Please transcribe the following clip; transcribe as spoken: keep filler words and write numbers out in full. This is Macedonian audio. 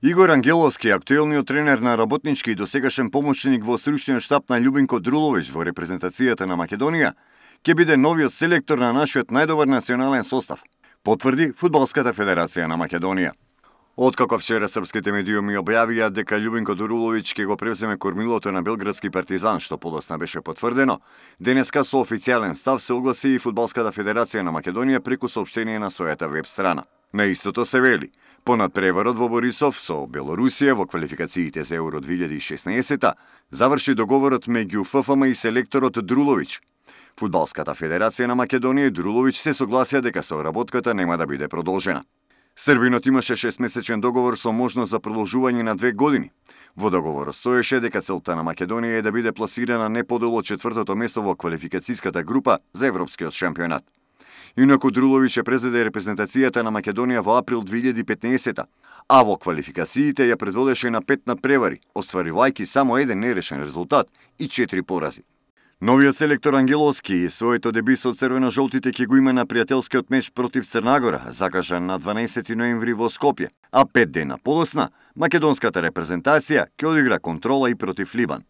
Игор Ангеловски, актуелниот тренер на работнички и досегашен помошник во стручниот штаб на Љубинко Друловиќ во репрезентацијата на Македонија, ќе биде новиот селектор на нашиот најдобар национален состав, потврди Фудбалската федерација на Македонија. Откако вчера српските медиуми објавија дека Љубинко Друловиќ ќе го превземе кормилото на Белградски Партизан, што подосна беше потврдено, денеска со официјален став се огласи и Фудбалската федерација на Македонија преку соопштение на својата веб страна. На истото се вели: понад преварот во Борисов со Белорусија во квалификациите за Евро две илјади и шеснаесетта, заврши договорот меѓу ФФМ и селекторот Друловиќ. Фудбалската федерација на Македонија и Друловиќ се согласија дека соработката нема да биде продолжена. Србинот имаше шестмесечен договор со можност за продолжување на две години. Во договорот стоеше дека целта на Македонија е да биде пласирана не подолу од четвртото место во квалификацијската група за европскиот шампионат. Инаку Друловиќ ја презеде репрезентацијата на Македонија во април две илјади и петнаесетта, а во квалификациите ја предводеше на пет надпревари, остварувајќи само еден нерешен резултат и четири порази. Новиот селектор Ангеловски своето деби со црвено-жолтите ќе го има на пријателскиот меч против Црнагора, закажан на дванаесети ноември во Скопје, а пет дена подосна македонската репрезентација ќе одигра контрола и против Либан.